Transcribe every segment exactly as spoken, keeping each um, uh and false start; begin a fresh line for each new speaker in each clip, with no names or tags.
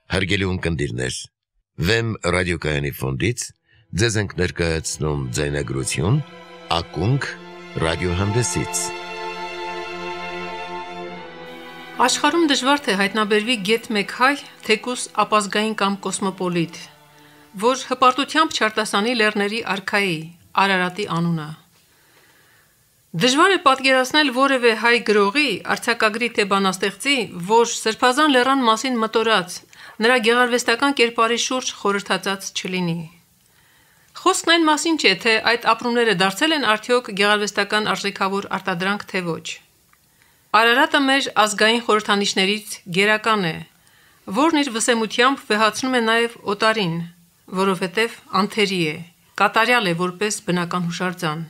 Հարգելի ունկնդիրներ, Վեմ ռադիոկայանի ֆոնդից ձեզ ենք ներկայացնում ձայնագրություն «Ակունք» ռադիոհանդեսից։
Աշխարհում դժվար թե հայտնաբերվի գեթ մեկ հայ, թեկուզ ապազգային կամ կոսմոպոլիտ, որ հպարտությամբ չարտասանի լեռների արքայի Արարատի անունը։ Դժվար է պատկերացնել որևէ հայ գրողի, արձակագրի թե բանաստեղծի, որ Սրբազան լեռան մասին մտորած, նրա գեղարվեստական կերպարի շուրջ խորհրդածած չլինի։ Խոսքն այն մասին չէ, թե այդ ապրումները դարձել են արդյոք գեղարվեստական արժեքավոր արտադրանք, թե ոչ։ Արարատը մեր ազգային խորհրդանիշներից գերական է, որն իր վսեմությամբ վեհացնում է նաև օտարին, որովհետև անթերի է, կատարյալ է որպես բնական հուշարձան։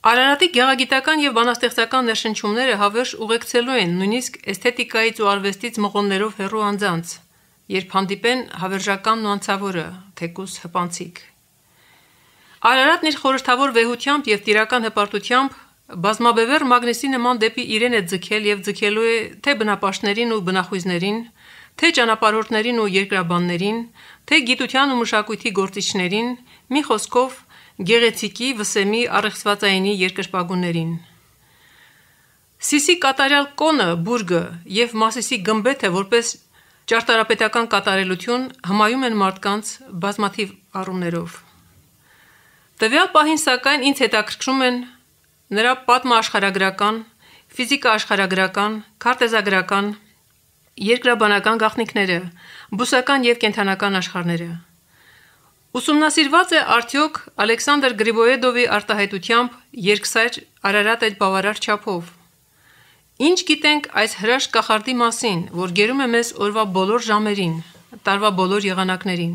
Արարատի գեղագիտական և բանաստեղծական ներշնչումները հավերժ ուղեկցելու են նույնիսկ էսթետիկայից ու արվեստից մղոններով հեռու անձանց, երբ հանդիպեն հավերժականն ու անցավորը, թեկուզ հպանցիկ։ Արարատն իր խորհրդավոր վեհությամբ և տիրական հպարտությամբ բազմաբևեռ մագնիսի նման դեպի իրեն է ձգել և ձգելու է թե բնապաշտներին ու բնախույզներին, թե ճանապարհորդներին ու երկրաբաններին, թե գիտության ու մշակույթի գործիչներին, մի խոսքով գեղեցիկի, վսեմի, առեղծվածայինի երկրպագուներին։ Սիսի կատարյալ կոնը, բուրգը և Մասիսի գմբեթը որպես ճարտարապետական կատարելություն հմայում են մարդկանց բազմաթիվ առումներով։ Տվյալ պահին սակայն ինձ հետաքրքրում են նրա պատմաաշխարհագրական, ֆիզիկաաշխարհագրական, քարտեզագրական, երկրաբանական գաղտնիքները, բուսական և կենդանական աշխարհները։ Ուսումնասիրված է արդյոք Ալեքսանդր Գրիբոեդովի արտահայտությամբ երկսայր Արարատ այդ բավարար չափով։ Ինչ գիտենք այս հրաշք կախարդի մասին, որ գերում է մեզ օրվա բոլոր ժամերին, տարվա բոլոր եղանակներին։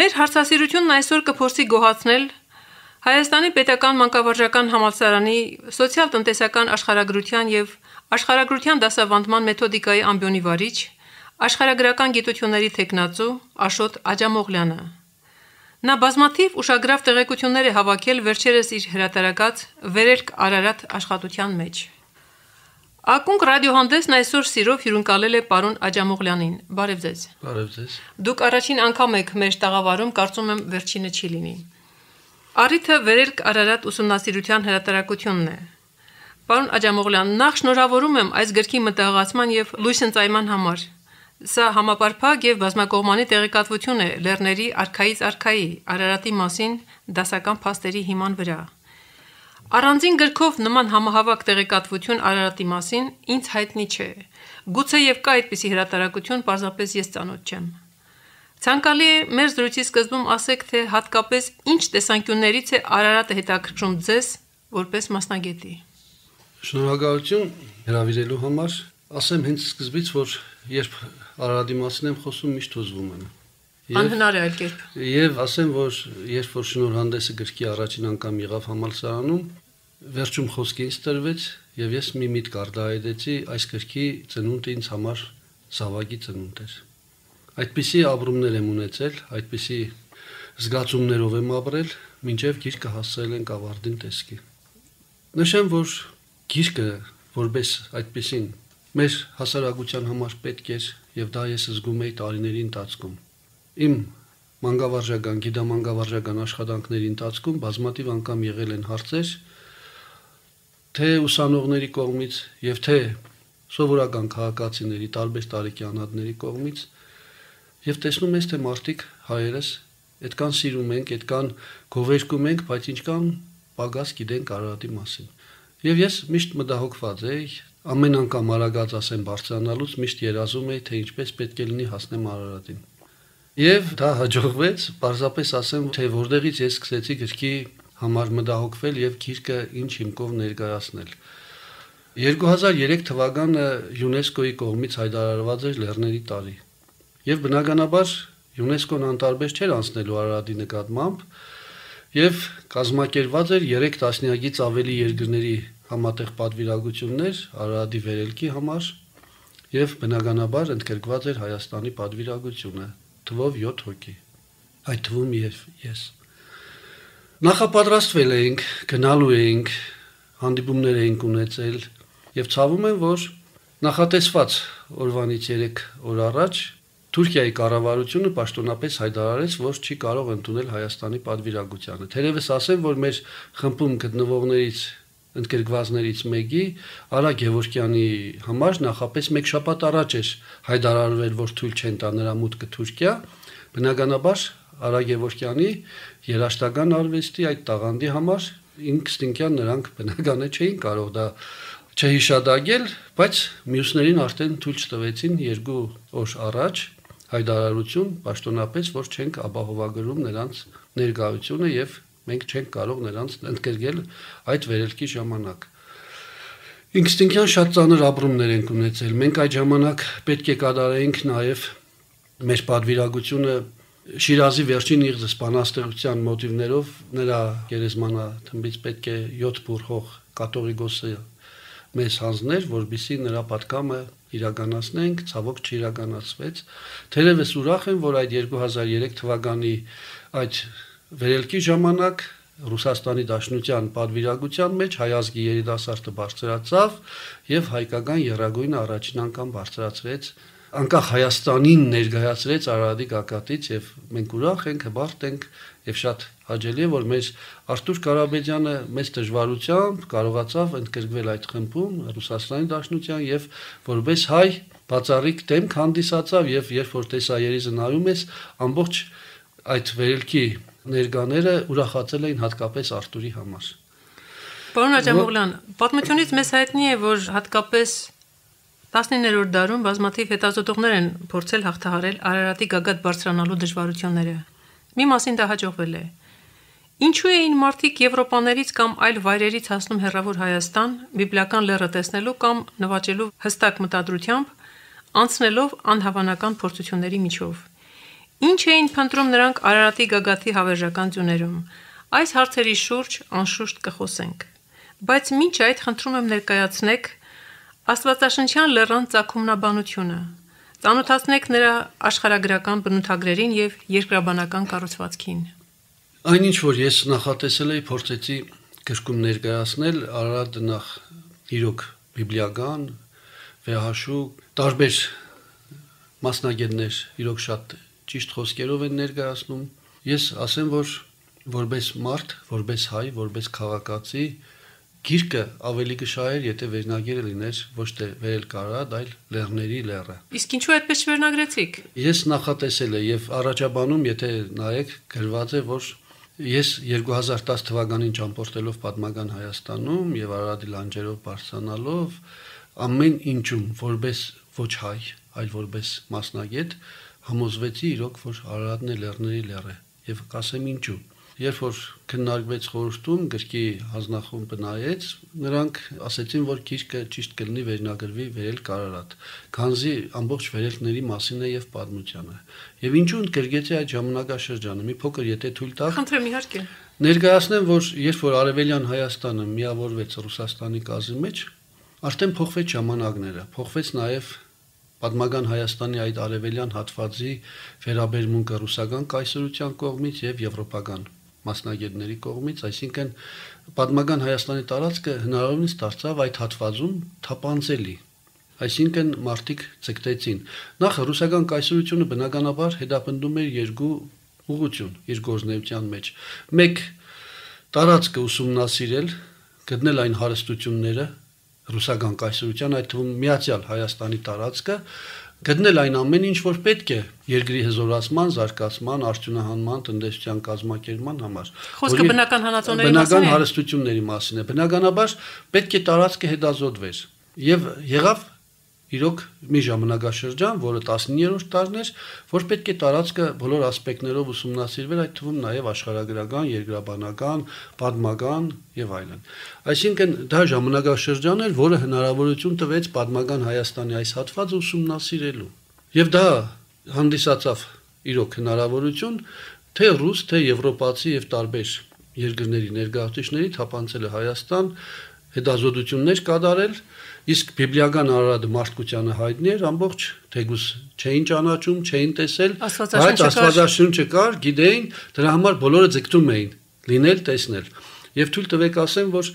Մեր հարցասիրությունն այսօր կփորձի գոհացնել Հայաստանի պետական մանկավարժական համալսարանի սոցիալ-տնտեսական աշխարհագրության և աշխարհագրության դասավանդման մեթոդիկայի ամբիոնի վարիչ, աշխարհագրական գիտությունների թեկնածու Աշոտ Աջամողլյանը։ Նա բազմաթիվ ուշագրավ տեղեկություններ է հավաքել վերջերս իր հրատարակած «Վերելք Արարատ» աշխատության մեջ։ Ակունք ռադիոհանդեսն այսօր սիրով հյուրընկալել է պարոն Աջամողլյանին։ Բարև ձեզ։
Բարև ձեզ։
Դուք առաջին անգամ եք մեր տաղավարում, կարծում եմ վերջինը չի լինի։ Առիթը «Վերելք Արարատ» ուսումնասիրության հրատարակությունն է։ Պարոն Աջամողլյան, նախ շնորհավորում եմ այս գրքի մտահղացման և լույսընծայման համար։ Սա համապարփակ և բազմակողմանի տեղեկատվություն է լեռների արքայից արքայի Արարատի մասին դասական փաստերի հիման վրա։ Առանձին գրքով նման համահավաք տեղեկատվություն Արարատի մասին ինձ հայտնի չէ։ Գուցեև կա այդպիսի հրատարակություն, պարզապես ես ծանոթ չեմ։ Ցանկալի է մեր զրույցի սկզբում ասեք, թե հատկապես ինչ տեսանկյուններից է Արարատը հետաքրքրում ձեզ որպես մասնագետի։
Շնորհակալություն հրավիրելու համար։ Ասեմ հենց սկզբից, որ երբ Արարատի մասին եմ խոսում, միշտ հուզվում եմ։
Անհնար է այլ կերպ։
Եվ ասեմ, որ երբ որ շնորհանդեսը գրքի առաջին անգամ եղավ համալսարանում, վերջում խոսք ինձ տրվեց եւ ես մի միտք արտահայտեցի, այս գրքի ծնունդը ինձ համար զավակի ծնունդ էր։ Այդպիսի ապրումներ եմ ունեցել, այդպիսի զգացումներով եմ ապրել, մինչև գիրքը հասցրել ենք ավարտին տեսքի։ Նշեմ, որ գիրքը որպես այդպիսին մեր հասարակության համար պետք էր եւ դա ես զգում էի տարիների ընթացքում։ Իմ մանկավարժական, գիտամանկավարժական աշխատանքների ընթացքում բազմաթիվ անգամ եղել են հարցեր, թե ուսանողների կողմից եւ թե սովորական քաղաքացիների, տարբեր տարիքի անհատների կողմից, եւ տեսնում ես, թե մարդիկ հայերս այդքան սիրում ենք, այդքան գովերգում ենք, բայց ինչքան պակաս գիտենք Արարատի մասին։ Եվ ես միշտ մտահոգված էի, ամեն անգամ արագած ասեմ բարձրանալուց միշտ երազում էի, թե ինչպես պետք է լինի հասնեմ Արարատին։ Եվ դա հաջողվեց, պարզապես ասեմ, թե որտեղից ես սկսեցի գրքի համար մտահոգվել եւ գիրքը ինչ հիմքով ներկայացնել։ երկու հազար երեք թվականը ՅՈՒՆԵՍԿՕ-ի կողմից հայտարարված էր լեռների տարի։ Եվ բնականաբար ՅՈՒՆԵՍԿՕ-ն անտարբեր չէր անցնելու Արարատի նկատմամբ եւ կազմակերպված էր երեք տասնյակից ավելի երկրների համատեղ պատվիրակություններ Արարատի վերելքի համար եւ բնականաբար ընդգրկված էր Հայաստանի պատվիրակությունը, թվով յոթ հոգի, այդ թվում եւ ես։ Նախապատրաստվել էինք, գնալու էինք, հանդիպումներ էինք ունեցել եւ ցավում եմ, որ նախատեսված օրվանից երեք օր առաջ Թուրքիայի կառավարությունը պաշտոնապես հայտարարեց, որ չի կարող ընդունել Հայաստանի պատվիրակությանը։ Թերևս ասեմ, որ մեր խմբում գտնվողներից ընդգրկվածներից մեկի Արա Գևորգյանի համար նախապես մեկ շաբաթ առաջ էր հայտարարվել, որ թույլ չեն տա նրա մուտքը Թուրքիա, բնականաբար Արա Գևորգյանի երաժշտական արվեստի այդ տաղանդի համար ինքնստինքյան նրանք բնական է չէին կարող դա չհիշադակել, բայց մյուսներին արդեն թույլ չտվեցին երկու օր առաջ հայտարարություն պաշտոնապես, որ չենք ապահովագրում նրանց ներկայությունը եւ մենք չենք կարող նրանց ընդգրկել այդ վերելքի ժամանակ։ Ինքնստինքյան շատ ծանր ապրումներ ենք ունեցել։ Մենք այդ ժամանակ պետք է կատարեինք նաեւ մեր պատվիրակությունը Շիրազի վերջին իղձ բանաստեղծության մոտիվներով նրա գերեզմանաթմբից պետք է յոթ բուռ հող կաթողիկոսը մեզ հանձներ, որբիսի նրա պատկամը իրականացնենք, ցավոք չիրականացվեց։ Թերևս ուրախ եմ, որ այդ երկու հազար երեք թվականի այդ վերելքի ժամանակ Ռուսաստանի Դաշնության պատվիրակության մեջ հայ ազգի երիտասարդը բարձրացավ եւ հայկական եռագույնը առաջին անգամ բարձրացրեց անկախ Հայաստանին ներկայացրեց Արարատի գագաթից եւ մենք ուրախ ենք, հբարտ ենք եւ շատ հաճելի է, որ մեր Արթուր Ղարաբեդյանը մեծ դժվարությամբ կարողացավ ընդգրկվել այդ խմբում Ռուսաստանի Դաշնության եւ որպես հայ բացառիկ դեմք հանդիսացավ եւ երբ որ տեսայերիզը նայում ես ամբողջ այդ վերելքի ներկաները ուրախացել էին հատկապես Արթուրի համար։
Պարոն Աջամօղլյան, պատմությունից մեզ հայտնի է, որ հատկապես տասնիններորդ դարում բազմաթիվ հետազոտողներ են փորձել հաղթահարել Արարատի գագաթ բարձրանալու դժվարությունները։ Մի մասին դա հաջողվել է։ Ինչու էին մարդիկ Եվրոպաներից կամ այլ վայրերից հասնում հեռավոր Հայաստան, բիբլիական լեռը տեսնելու կամ նվաճելու հստակ մտադրությամբ, անցնելով անհավանական փորձությունների միջով։ Ինչ էին փնտրում նրանք Արարատի գագաթի հավերժական ձյուներում։ Այս հարցերի շուրջ անշուշտ կխոսենք։ Բայց մինչ այդ խնդրում եմ ներկայացնեք Աստվածաշնչյան լեռան ծագումնաբանությունը, ծանոթացնեք նրա աշխարհագրական բնութագրերին եւ երկրաբանական կառուցվածքին։
Այնինչ որ ես նախատեսել էի փորձեցի գրքում ներկայացնել Արարատը նախ իրոք բիբլիական, վեհաշու, տարբեր մասնագետներ իրոք շատ ճիշտ խոսքերով են ներկայացնում։ Ես ասեմ, որ որպես մարդ, որպես հայ, որպես քաղաքացի գիրքը ավելի կշահեր, եթե վերնագիրը լիներ ոչ թե վերելք Արարատ, այլ լեռների լեռը։
Իսկ ինչու այդպես չվերնագրեցիք։
Ես նախատեսել եմ եւ առաջաբանում, եթե նայեք, գրված է, որ ես երկու հազար տասը թվականին ճամփորդելով պատմական Հայաստանում եւ Արարատի լանջերով բարձրանալով ամեն ինչում որպես ոչ հայ, այլ որպես մասնագետ համոզվեցի իրոք, որ Արարատն է լեռների լեռը եւ կասեմ ինչու։ Երբ որ քննարկվեց խորհրդում, գրքի հանձնախումբը նայեց, նրանք ասեցին, որ գիրքը ճիշտ կլինի վերնագրվի վերելք Արարատ, քանզի ամբողջ վերելքների մասին է եւ պատմությանը։ Եվ ինչու ընդգրկեցի այդ ժամանակաշրջանը, մի փոքր եթե թույլ տաք։
Խնդրեմ իհարկե։
Ներկայացնեմ, որ երբ որ Արևելյան Հայաստանը միավորվեց Ռուսաստանի կազմի մեջ, արդեն փոխվեց ժամանակները, փոխվեց նաեւ պատմական Հայաստանի այդ արևելյան հատվածի վերաբերմունքը ռուսական կայսրության կողմից եւ եվրոպական մասնագետների կողմից, այսինքն պատմական Հայաստանի տարածքը հնարավորինս դարձավ այդ հատվածում թափանցելի, այսինքն մարդիկ ցկտեցին։ Նախ ռուսական կայսրությունը բնականաբար հետապնդում էր երկու ուղղություն իր գործունեության մեջ։ Մեկ տարածքը ուսումնասիրել, գտնել այն հարստությունները ռուսական կայսրության, այդ թվում Միացյալ Հայաստանի տարածքը, գտնել այն ամեն ինչ, որ պետք է երկրի հզորացման, զարգացման, արդյունահանման, տնտեսության կազմակերպման համար։
Խոսքը բնական հանածոների մասին է։
Բնական հարստությունների մասին է։ Բնականաբար պետք է տարածքը հետազոտվեր։ Եվ եղավ իրոք մի ժամանակաշրջան, որը տասնիններորդ դարն էր, որ պետք է տարածքը բոլոր ասպեկտներով ուսումնասիրվեր, այդ թվում նաև աշխարհագրական, երկրաբանական, պատմական եւ այլն։ Այսինքն դա ժամանակաշրջան էր, որը հնարավորություն տվեց պատմական Հայաստանի այս հատվածը ուսումնասիրելու։ Եվ դա հանդիսացավ իրոք հնարավորություն թե ռուս, թե եվրոպացի եւ տարբեր երկրների ներկայացուցիչների թափանցել է Հայաստան, հետազոտություններ կատարել, իսկ բիբլիական Արարատը մարդկությանը հայտնի էր, ամբողջ թեգուս չէին ճանաչում, չէին տեսել, բայց Աստվածաշունչը կար, գիտեին, դրա համար բոլորը ձգտում էին լինել, տեսնել։ Եվ թույլ տվեք ասեմ, որ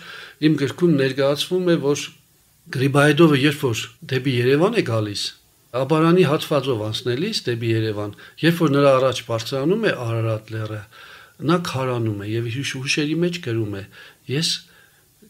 իմ գրքում ներկայացվում է, որ Գրիբայեդովը երբ որ դեպի Երևան է գալիս, Աբարանի հատվածով անցնելիս դեպի Երևան, երբ որ նրա առաջ բարձրանում է Արարատ լեռը, նա քարանում է եւ հուշերի մեջ գրում է. ես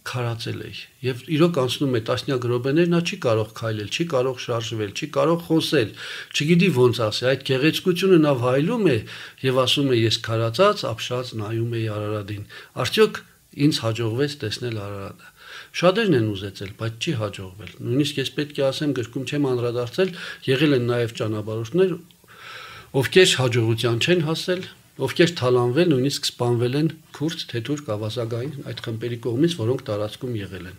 քարացել էի եւ իրոք անցնում է տասնյակ րոպեներ, նա չի կարող քայլել, չի կարող շարժվել, չի կարող խոսել, չգիտի ոնց ասի, այդ գեղեցկությունը նա վայելում է եւ ասում է ես քարացած, ապշած նայում էի Արարատին, արդյոք ինձ հաջողվեց տեսնել Արարատը։ Շատերն են ուզեցել, բայց չի հաջողվել։ Նույնիսկ ես պետք է ասեմ, գրքում չեմ անդրադարձել, եղել են նաև ճանապարհորդներ, ովքեր հաջողության չեն հասել, ովքեր թալանվել, նույնիսկ սպանվել են քուրդ, թեթուր, կավազագային այդ խմբերի կողմից, որոնք տարածքում եղել են։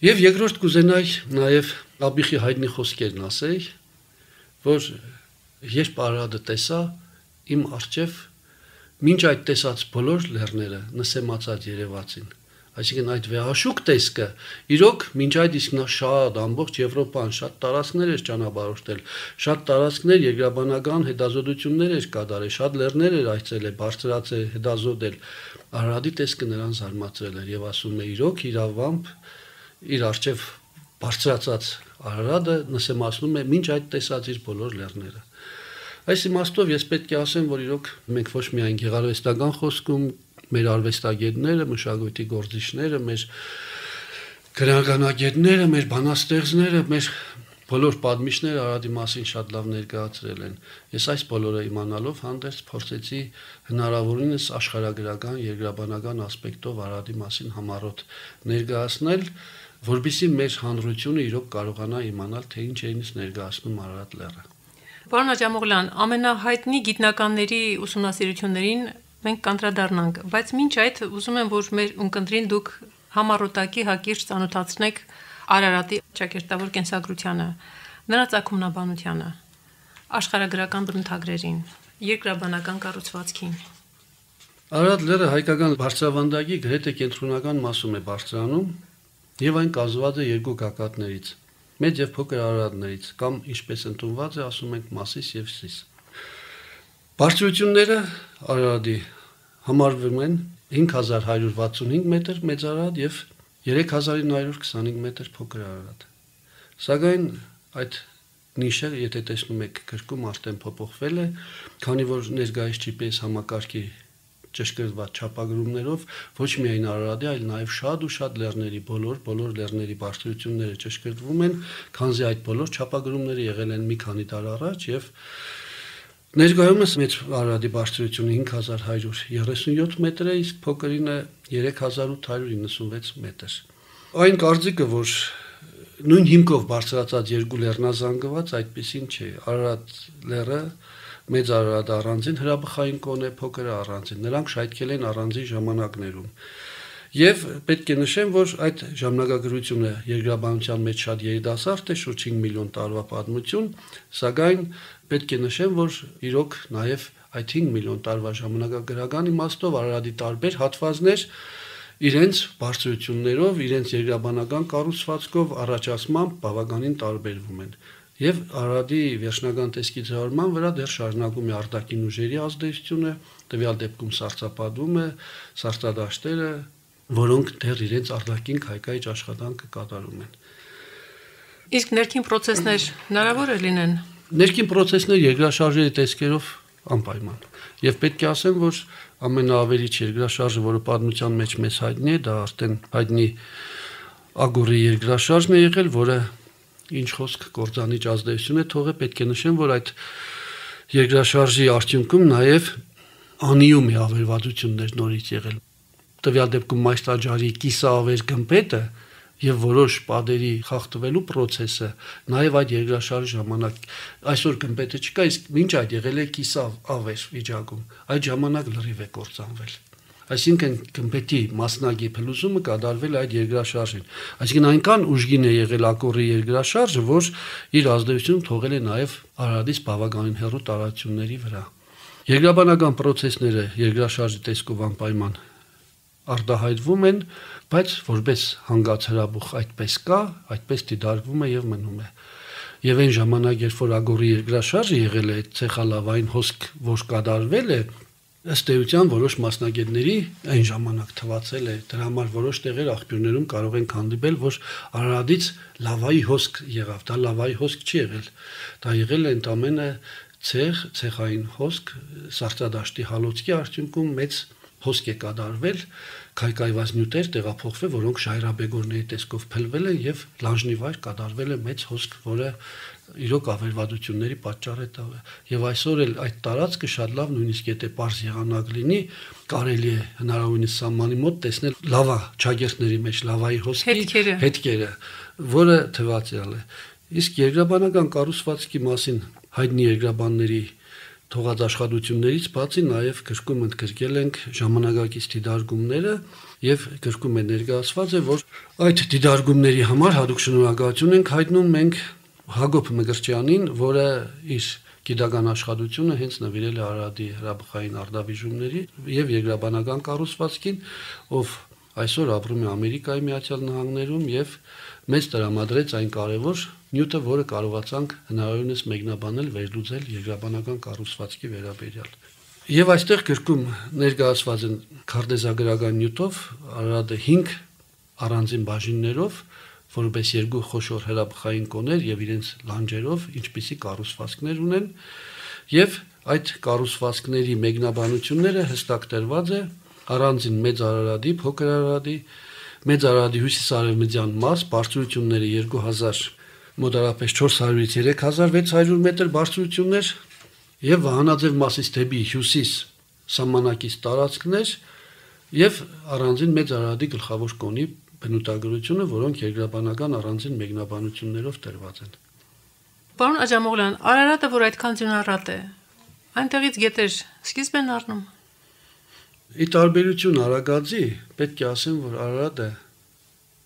Եվ երկրորդ կուզենայի նաև Աբիխի հայտնի խոսքերն ասեի, որ երբ Արարատը տեսա, իմ առջև մինչ այդ տեսած բոլոր լեռները նսեմացած երևացին։ Այսինքն այդ վեհաշուկ տեսքը իրոք մինչ այդ իսկ նա շատ ամբողջ Եվրոպան շատ տարածքներ էր ճանապարհորդել, շատ տարածքներ երկրաբանական հետազոտություններ էր կատարել, շատ լեռներ էր այցելել, բարձրացել, հետազոտել։ Արարատի տեսքը նրան զարմացրել էր եւ ասում է իրոք իրավամբ իր արժեվ բարձրացած Արարատը նսեմացնում է մինչ այդ տեսած իր բոլոր լեռները։ Այս իմաստով ես պետք է ասեմ, որ իրոք մենք ոչ միայն գեղարվեստական խոսքում մեր արվեստագետները, մշակույթի գործիչները, մեր գրականագետները, մեր բանաստեղծները, մեր բոլոր պատմիչները Արարատի մասին շատ լավ ներկայացրել են։ Ես այս բոլորը իմանալով հանդերձ փորձեցի հնարավորինս աշխարհագրական, երկրաբանական ասպեկտով Արարատի մասին համառոտ ներկայացնել, որբիսի մեր հանրությունը իրոք կարողանա իմանալ, թե ինչ է ինձ ներկայացնում Արարատ լեռը։
Պարոն Աջամուղլյան, ամենահայտնի գիտնականների ուսումնասիրություններին մենք կանդրադառնանք, բայց մինչ այդ ուզում եմ, որ մեր ունկնդրին դուք համառոտակի հակիրճ ծանոթացնեք Արարատի ճակերտավոր կենսագրությանը, նրա ծագումնաբանությանը, աշխարհագրական բնութագրերին, երկրաբանական կառուցվածքին։
Արարատ լեռը հայկական բարձրավանդակի գրեթե կենտրոնական մասում է բարձրանում եւ այն կազմված է երկու գագաթներից՝ մեծ եւ փոքր արարատներից, կամ ինչպես ընդունված է, ասում ենք Մասիս եւ Սիս։ Բարձրությունները Արարատի համարվում են հինգ հազար հարյուր վաթսունհինգ մետր մեծ Արարատ եւ երեք հազար ինը հարյուր քսանհինգ մետր փոքր Արարատ։ Սակայն այդ նիշը, եթե տեսնում եք գրքում, արդեն փոփոխվել է, քանի որ ներկայիս ջի պի էս համակարգի ճշգրտված չափագրումներով ոչ միայն Արարատի, այլ նաև շատ ու շատ լեռների, բոլոր բոլոր լեռների բարձրությունները ճշգրտվում են, քանզի այդ բոլոր չափագրումները եղել են մի քանի տարի առաջ եւ ներկայումս մեծ Արարատի բարձրությունը հինգ հազար հարյուր երեսունյոթ մետր է, իսկ փոքրինը երեք հազար ութ հարյուր իննսունվեց մետր։ Այն կարծիքը, որ նույն հիմքով բարձրացած երկու լեռնազանգված այդպեսին չէ։ Արարատ լեռը մեծ Արարատ առանձին հրաբխային կոն է, փոքրը առանձին։ Նրանք շայթքել են առանձին ժամանակներում։ Եվ պետք է նշեմ, որ այդ ժամանակագրությունը երկրաբանության մեջ շատ երիտասարդ է, շուրջ հինգ միլիոն տարվա պատմություն, սակայն պետք է նշեմ, որ իրոք նաև այդ հինգ միլիոն տարվա ժամանակագրական իմաստով Արարատի տարբեր հատվածներ իրենց բարձրություններով, իրենց երկրաբանական կառուցվածքով, առաջացմամբ բավականին տարբերվում են։ Եվ Արարատի վերջնական տեսքի ձևավորման վրա դեռ շարունակում է արտաքին ուժերի ազդեցությունը, տվյալ դեպքում սառցապատումը, սառցադաշտերը, որոնք դեռ իրենց արտաքին քայքայիչ աշխատանքը կատարում են։
Իսկ ներքին պրոցեսներ հնարավոր է լինեն։
Ներքին պրոցեսներ երկրաշարժերի տեսքերով անպայման։ Եվ պետք է ասեմ, որ ամենաավելիչ երկրաշարժը, որը պատմության մեջ մեզ հայտնի է, դա արդեն հայտնի Ագորի երկրաշարժն է եղել, որը ինչ խոսք կործանիչ ազդեցություն է թողել, պետք է նշեմ, որ այդ երկրաշարժի արդյունքում նաև անիում է ավերվածություններ նորից եղել։ Տվյալ դեպքում Մայստաջարի կիսաավեր գմբեթը եւ որոշ պատերի խախտվելու process-ը նաեւ այդ երկրաշարժի ժամանակ այսօր գմբեթը չկա, իսկ մինչ այդ եղել է կիսավեր վիճակում, այդ ժամանակ լրիվ է կործանվել։ Այսինքն գմբեթի մասնագի փլուզումը կատարվել այդ երկրաշարժին։ Այսինքն այնքան ուժգին է եղել Ակորի երկրաշարժը, որ իր ազդեցությունը թողել է նաեւ Արարատից բավականին հեռու տարածությունների վրա։ Երկրաբանական process-ները երկրաշարժի տեսքով անպայման արտահայտվում են, բայց որպես հանգած հրաբուխ այդպես կա, այդպես դիտարկվում է եւ մնում է։ Եվ այն ժամանակ, երբ որ Ագորի երկրաշարժը եղել է, ցեխալավային հոսք, որ կատարվել է, ըստ էության որոշ մասնագետների այն ժամանակ թվացել է դրա համար որոշ տեղեր աղբյուրներում կարող են հանդիպել, որ Արարատից լավայի հոսք եղավ, դա լավայի հոսք չի եղել, դա եղել է ընդամենը ցեխ, ցեխային հոսք, սառցադաշտի հալոցքի արդյունքում մեծ հոսք է կատարվել, քայքայված նյութեր տեղափոխվել, որոնք ժայռաբեգորների տեսքով փլվել են եւ լանջնիվայր կատարվել է մեծ հոսք, որը իրոք ավերվածությունների պատճառ է տվել։ Եվ այսօր էլ այդ տարածքը շատ լավ, նույնիսկ եթե պարզ եղանակ լինի, կարելի է հնարավորինս սահմանի մոտ տեսնել լավա ճագերտների մեջ լավայի հոսքի հետքերը, որը թվացial է։ Իսկ երկրաբանական կառուցվածքի մասին հայտնի երկրաբանների թողած աշխատություններից բացի նաև գրքում ընդգրկել ենք ժամանակակից դիդարգումները եւ գրքում է ներկայացված է, որ այդ դիդարգումների համար հատուկ շնորհակալություն ենք հայտնում մենք Հակոբ Մկրտչյանին, որը իր գիտական աշխատությունը հենց նվիրել է Արարատի հրաբխային արտավիժումների եւ երկրաբանական կառուցվածքին, ով այսօր ապրում է Ամերիկայի Միացյալ Նահանգներում եւ մեծ տրամադրեց այն կարևոր նյութը, որը կարողացանք հնարավորինս մեկնաբանել, վերլուծել երկրաբանական կառուցվածքի վերաբերյալ։ Եվ այստեղ գրքում ներկայացված են քարտեզագրական նյութով Արարատը հինգ առանձին բաժիններով, որպես երկու խոշոր հրաբխային կոներ եւ իրենց լանջերով, ինչպիսի կառուցվածքներ ունեն, եւ այդ կառուցվածքների մեկնաբանությունները հստակ տրված է առանձին մեծ Արարատի, փոքր Արարատի, մեծ Արարատի հյուսիսարևմտյան մաս, բարձրությունները երկու հազար մոտարապես չորս հարյուրից երեք հազար վեց հարյուր մետր բարձրություններ եւ Վահանաձև մասից դեպի հյուսիս սահմանակից տարածքներ եւ առանձին մեծ Արարատի գլխավոր կոնի բնութագրությունը, որոնք երկրաբանական առանձին մեկնաբանություններով տրված են։
Պարոն Աջամողլյան, Արարատը, որ այդքան ձյունառատ է, այնտեղից գետեր սկիզբ են առնում։
Ի տարբերություն Արագածի, պետք է ասեմ, որ Արարատը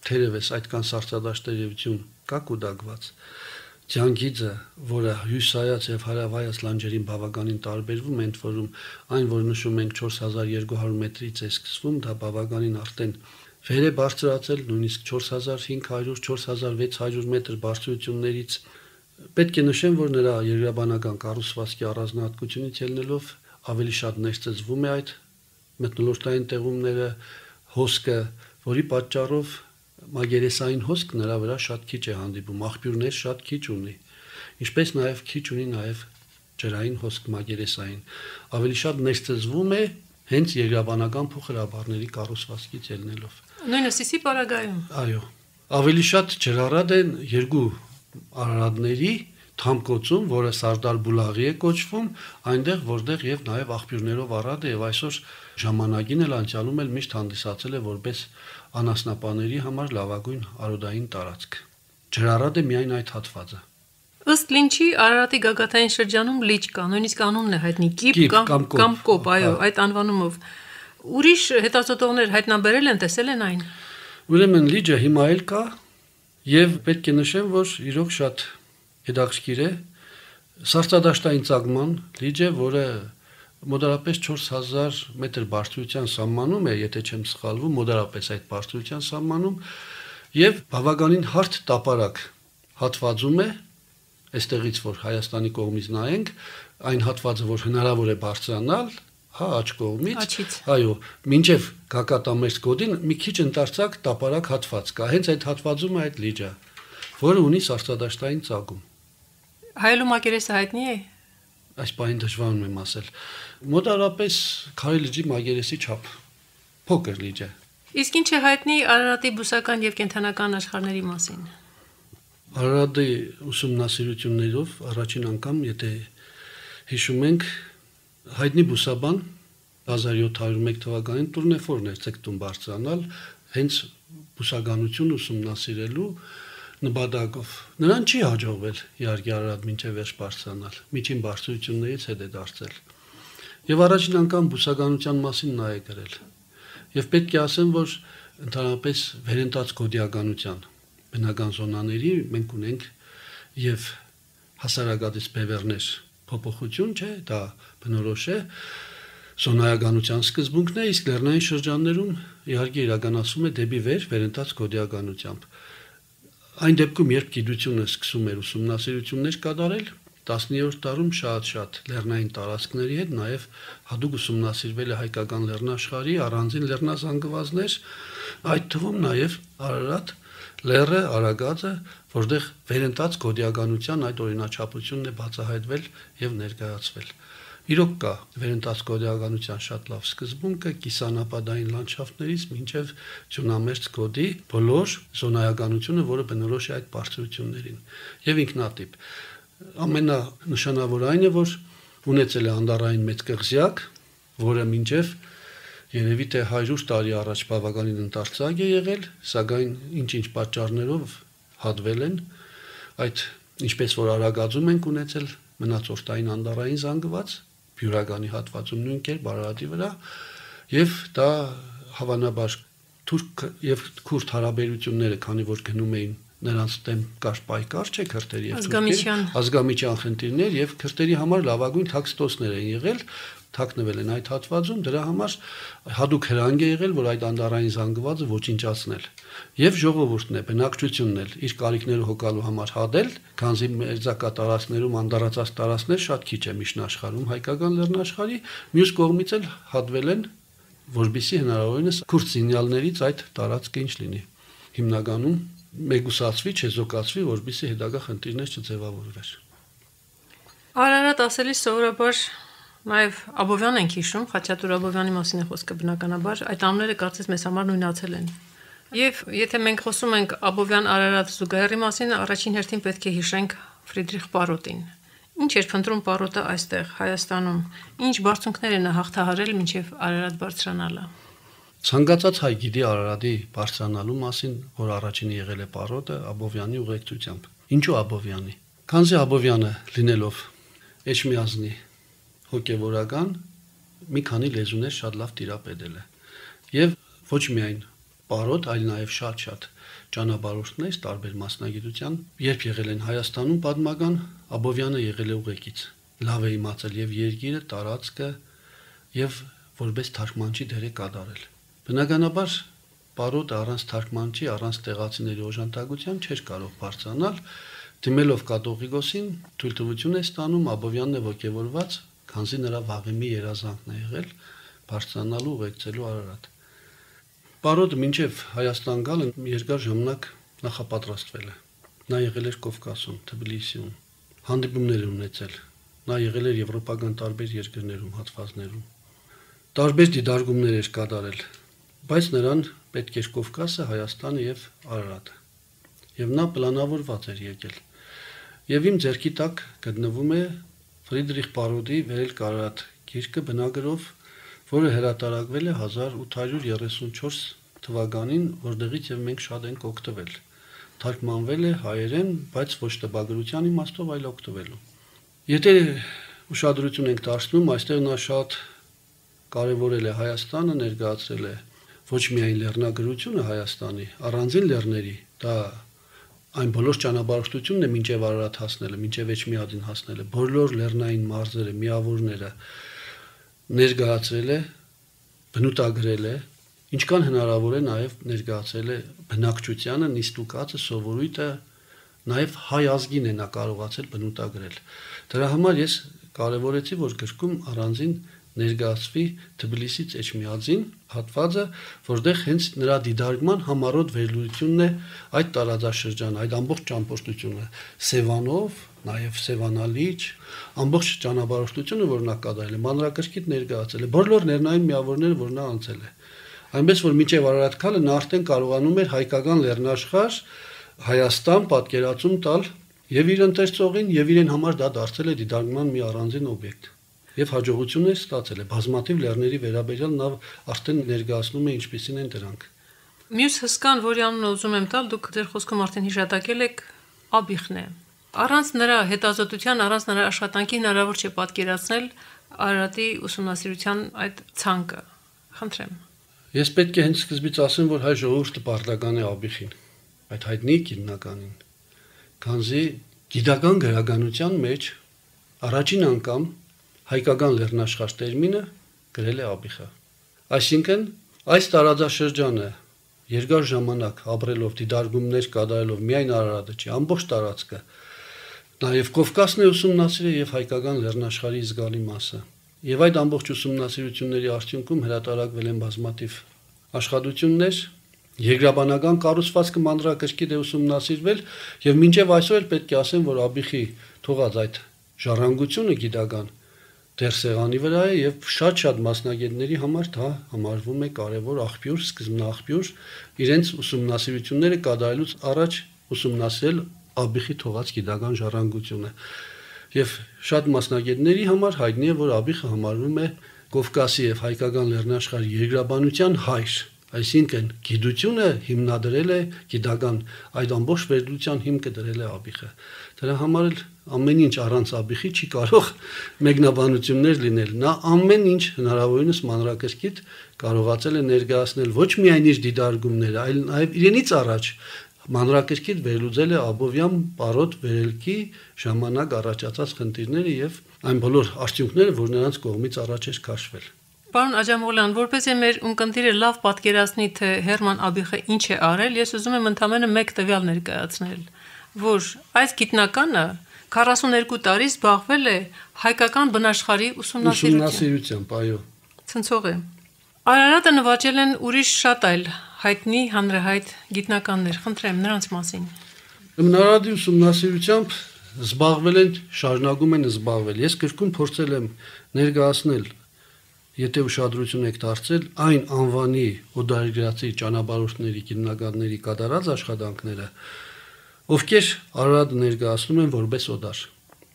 թերևս այդքան սառցադաշտերևություն կա կուտակված։ Ջանգիծը, որը հյուսայաց եւ հարավայաց լանջերին բավականին տարբերվում է, ընդ որում այն, որ նշում ենք չորս հազար երկու հարյուր մետրից է սկսվում, դա բավականին արդեն վեր է բարձրացել, նույնիսկ չորս հազար հինգ հարյուր, չորս հազար վեց հարյուր մետր բարձրություններից։ Պետք է նշեմ, որ նրա երկրաբանական կառուցվածքի առանձնահատկությունից ելնելով ավելի շատ ներծծվում է այդ մթնոլորտային տեղումները, հոսքը, որի պատճառով մագերեսային հոսք նրա վրա շատ քիչ է հանդիպում, աղբյուրներ շատ քիչ ունի, ինչպես նաև քիչ ունի նաև ջրային հոսք մագերեսային։ Ավելի շատ ներծծվում է հենց երկրաբանական փոխհրաբարների կառուցվածքից ելնելով։
Նույնը Սիսի պարագայում։
Այո, ավելի շատ ջրառատ են երկու Արարատների թամկոցում, որը Սարդար Բուլաղի է կոչվում, այնտեղ որտեղ եւ նաեւ աղբյուրներով առատ է եւ այսօր ժամանակին էլ անցյալում էլ միշտ հանդիսացել է որպես անասնապաների համար լավագույն արոդային տարածք։ Ջրառատ է միայն այդ հատվածը։
Ըստ Լինչի Արարատի գագաթային շրջանում լիճ կա, նույնիսկ անունն է հայտնի Կիպ կամ կամ Կոպ, այո, այդ անվանումով։ Ուրիշ հետազոտողներ հայտնաբերել են, տեսել են այն։
Ուրեմն լիճը հիմա էլ կա եւ պետք է նշեմ, որ իրոք շատ հետաքրքիր է սառցադաշտային ծագման լիճ է, որը մոտարապես չորս հազար մետր բարձրության սահմանում է, եթե չեմ սխալվում, մոտարապես այդ բարձրության սահմանում եւ բավականին հարթ տապարակ հատվածում է, այստեղից որ Հայաստանի կողմից նայենք, այն հատվածը, որ հնարավոր է բարձրանալ, հա, աջ կողմից, այո, մինչեւ Գակատամերձ գոտին մի քիչ ընդարձակ տապարակ հատված կա, հենց այդ հատվածում է այդ լիճը, որը ունի սառցադաշտային ծագում։
Հայելու մակերեսը հայտնի է։
Այս բանին դժվարում եմ ասել։ Մոտարապես Քարի լճի մակերեսի չափ փոքր լիճ է։
Իսկ ինչ է հայտնի Արարատի բուսական եւ կենթանական աշխարհների մասին։
Արարատի ուսումնասիրություններով առաջին անգամ, եթե հիշում ենք, հայտնի բուսաբան հազար յոթ հարյուր մեկ թվականին Տուրնեֆորն էր ցեկտում բարձրանալ հենց բուսականություն ուսումնասիրելու նպատակով։ Նրան չի հաջողվել իհարկե Արարատ մինչև վերջ բարձրանալ, միջին բարձրություններից հետ է դարձել։ Եվ առաջին անգամ բուսականության մասին նա է գրել։ Եվ պետք է ասեմ, որ ընդհանրապես վերընթաց գոդիականության բնական զոնաների մենք ունենք եւ հասարակատից բևեռներ փոփոխություն չէ, դա բնորոշ է զոնայականության սկզբունքն է, իսկ լեռնային շրջաններում իհարկե իրականացվում է դեպի վեր վերընթաց գոդիականությամբ։ Այն դեպքում, երբ գիտությունը սկսում էր ուսումնասիրություններ կատարել, տասնյոթերորդ դարում շատ-շատ լեռնային տարածքների հետ նաև հատուկ ուսումնասիրվել է հայկական լեռնաշխարհի առանձին լեռնազանգվածներ, այդ թվում նաև Արարատ լեռը, Արագածը, որտեղ վերընթաց գոդիականության այդ օրինաչափությունն է բացահայտվել եւ ներկայացվել։ Իրոք կա վերընթաց գոդիականության շատ լավ սկզբունքը կիսանապադային լանդշաֆտներից մինչև Ջունամերձ գոտի բոլոր զոնայականությունը, որը բնորոշ է այդ բարձրություններին եւ ինքնատիպ։ Ամենանշանավոր այն է, որ ունեցել է անդառային մեծ կղզյակ, որը մինչև երևի թե հարյուր տարի առաջ բավականին ընդարձակ է եղել, սակայն ինչ-ինչ պատճառներով հատվել են, այդ ինչպես որ Արագածում ենք ունեցել մնացորդային անդառային զանգված, բյուրականի հատվածում նույն կերպ Արարատի վրա, եւ դա հավանաբար թուրք եւ քուրդ հարաբերությունները, քանի որ գնում էին նրանց դեմ կար պայքար, չէ, քրդերի եւ թուրքերի ազգամիջյան խնդիրներ եւ քրդերի համար լավագույն թաքստոսներ են եղել, թաքնվել են այդ հատվածում, դրա համար հատուկ հրանգ է եղել, որ այդ անդառային զանգվածը ոչնչացնել։ Եվ ժողովուրդն է, բնակչությունն էլ իր կարիքները հոգալու համար հադել, քանզի մերձակա տարածքներում անդառացած տարածքներ շատ քիչ է միջնաշխարհում հայկական լեռնաշխարհի, մյուս կողմից էլ հատվել են, որբիսի հնարավորինս քուրդ զինյալներից այդ տարածքը ինչ լինի։ Հիմնականում մեգուսացվի, չեզոքացվի, որբիսի հետագա խնդիրներ չձևավորվեր։
Արարատ ասելիս սովորաբար նաև Աբովյան ենք հիշում, Խաչատուր Աբովյանի մասին է խոսքը բնականաբար, այդ անունները կարծես մեզ համար նույնացել են։ Եվ եթե մենք խոսում ենք Աբովյան-Արարատ զուգահեռի մասին, առաջին հերթին պետք է հիշենք Ֆրիդրիխ Պարոտին։ Ինչ էր փնտրում Պարոտը այստեղ Հայաստանում, ինչ բարձունքներ են հաղթահարել մինչև Արարատ բարձրանալը։
Ցանկացած հայ գիտի Արարատի բարձրանալու մասին, որ առաջինը եղել է Պարոտը Աբովյանի ուղեկցությամբ։ Ինչու Աբովյանի։ Քանզի Աբովյանը լինելով Էջմիածնի հոգևորական մի քանի լեզուներ շատ լավ տիրապետել է։ Եվ ոչ միայն Պարոտ, այլ նաև շատ-շատ ճանապարհորդներ տարբեր մասնագիտության, երբ եղել են Հայաստանում պատմական, Աբովյանը եղել է ուղեկից։ Լավ է իմացել եւ երկիրը, տարածքը եւ որպես թարգմանչի դեր է կատարել։ Բնականաբար Պարոտը առանց թարգմանչի, առանց տեղացիների օժանդակության չէր կարող բարձրանալ, դիմելով կատողիկոսին թույլտվություն է ստանում, Աբովյանն է ողջևորված, քանզի նրա վաղեմի երազանքն է եղել բարձրանալու ուղեկցելու Արարատ։ Պարոտը մինչև Հայաստան գալը երկար ժամանակ նախապատրաստվել է։ Նա եղել էր Կովկասում, Թբիլիսիում, հանդիպումներ ունեցել։ Նա եղել էր եվրոպական տարբեր երկրներում, հատվածներում։ Տարբեր դիտարկումներ էր կատարել, բայց նրան պետք էր Կովկասը, Հայաստանը եւ Արարատը։ Եվ նա պլանավորված էր եկել։ Եվ իմ ձեռքի տակ գտնվում է Ֆրիդրիխ Պարոտի «Վերելք Արարատ» գիրքը բնագրով, որը հրատարակվել է հազար ութ հարյուր երեսունչորս թվականին, որտեղից եւ մենք շատ ենք օգտվել։ Թարգմանվել է հայերեն, բայց ոչ տպագրության իմաստով, այլ օգտվելու։ Եթե ուշադրություն ենք դարձնում, այստեղ նա շատ կարևորել է Հայաստանը, ներկայացրել է ոչ միայն լեռնագրությունը Հայաստանի, առանձին լեռների, դա այն բոլոր ճանապարհորդությունն է մինչև Արարատ հասնելը, մինչև Էջմիածին հասնելը, բոլոր լեռնային մարզերը, միավորները ներկայացրել է, բնութագրել է, ինչքան հնարավոր է նաև ներկայացրել է բնակչությանը, նիստուկածը, սովորույթը, նաև հայ ազգին է նա կարողացել բնութագրել։ Դրա համար ես կարևորեցի, որ գրքում առանձին ներկայացվի Թբիլիսից Էջմիածին հատվածը, որտեղ հենց նրա դիտարկման համառոտ վերլուծությունն է այդ տարածաշրջանը, այդ ամբողջ ճամփորդությունը Սևանով, նաև Սևանալիճ, ամբողջ ճանապարհորդությունը, որ նա կատարել է, մանրակրկիտ ներկայացել է բոլոր լեռնային միավորները, որ նա անցել է։ Այնպես որ մինչև Արարատ քալը նա արդեն կարողանում էր հայկական լեռնաշխարհ Հայաստան պատկերացում տալ եւ իր ընթերցողին, եւ իրեն համար դա դարձել է դիտարկման մի առանձին օբյեկտ։ Եվ հաջողություններ ստացել է բազմաթիվ լեռների վերաբերյալ նա արդեն ներկայացնում է ինչպիսին են դրանք։
Մյուս հսկան, որի անունը ուզում եմ տալ, դուք ձեր խոսքում արդեն հիշատակել եք, Աբիխն է։ Առանց նրա հետազոտության, առանց նրա աշխատանքի հնարավոր չէ պատկերացնել Արարատի ուսումնասիրության այդ ցանկը։ Խնդրեմ։
Ես պետք է հենց սկզբից ասեմ, որ հայ ժողովուրդը պարտական է Աբիխին, այդ հայտնի քննականին, քանզի գիտական գրականության մեջ առաջին անգամ հայկական լեռնաշխարհ տերմինը գրել է Աբիխը։ Այսինքն այս տարածաշրջանը երկար ժամանակ ապրելով, դիտարկումներ կատարելով միայն Արարատը չի, ամբողջ տարածքը Նաև Կովկասն է ուսումնասիրել եւ հայկական լեռնաշխարհի զգալի մասը։ Եվ այդ ամբողջ ուսումնասիրությունների արդյունքում հրատարակվել են բազմաթիվ աշխատություններ, երկրաբանական կառուցվածքը մանրակրկիտ է ուսումնասիրվել եւ մինչեւ այսօր էլ պետք է ասեմ, որ Աբիխի թողած այդ ժառանգությունը գիտական դեռ սեղանի վրա է եւ շատ-շատ մասնագետների համար դա համարվում է կարեւոր աղբյուր, սկզբնաղբյուր իրենց ուսումնասիրությունները կատարելուց առաջ ուսումնասիրել Աբիխի թողած գիտական ժառանգությունը։ Եվ շատ մասնագետների համար հայտնի է, որ Աբիխը համարվում է Կովկասի եւ հայկական լեռնաշխարհի երկրաբանության հայր, այսինքն գիտությունը հիմնադրել է գիտական այդ ամբողջ վերլուծության հիմքը դրել է Աբիխը։ Դրա համար էլ ամեն ինչ առանց Աբիխի չի կարող մեկնաբանություններ լինել։ Նա ամեն ինչ հնարավորինս մանրակրկիտ կարողացել է ներկայացնել ոչ միայն իր դիտարկումները, այլ նաեւ իրենից առաջ մանրակրկիտ վերլուծել է Աբովյան պարոտ վերելքի ժամանակ առաջացած խնդիրները եւ այն բոլոր արդյունքները, որ նրանց կողմից առաջ էր քաշվել։
Պարոն Աջամողլյան, որպեսզի մեր ունկնդիրը լավ պատկերացնի, թե Հերման Աբիխը ինչ է արել, ես ուզում եմ ընդամենը մեկ տվյալ ներկայացնել, որ այս գիտնականը քառասուներկու տարի զբաղվել է հայկական բնաշխարհի ուսումնասիրությամբ, այո։ Ցնցող է։ Արարատը նվաճել են ուրիշ շատ այլ հայտնի հանրահայտ գիտնականներ, խնդրեմ նրանց մասին։
Բնարդի ուսումնասիրությամբ զբաղվել են, շարունակում են զբաղվել։ Ես գրքում փորձել եմ ներկայացնել, եթե ուշադրություն եք դարձել, այն անվանի օդարերգրացի ճանապարհորդների, գիտնականների կատարած աշխատանքները, ովքեր Արարատը ներկայացնում են որպես օդար։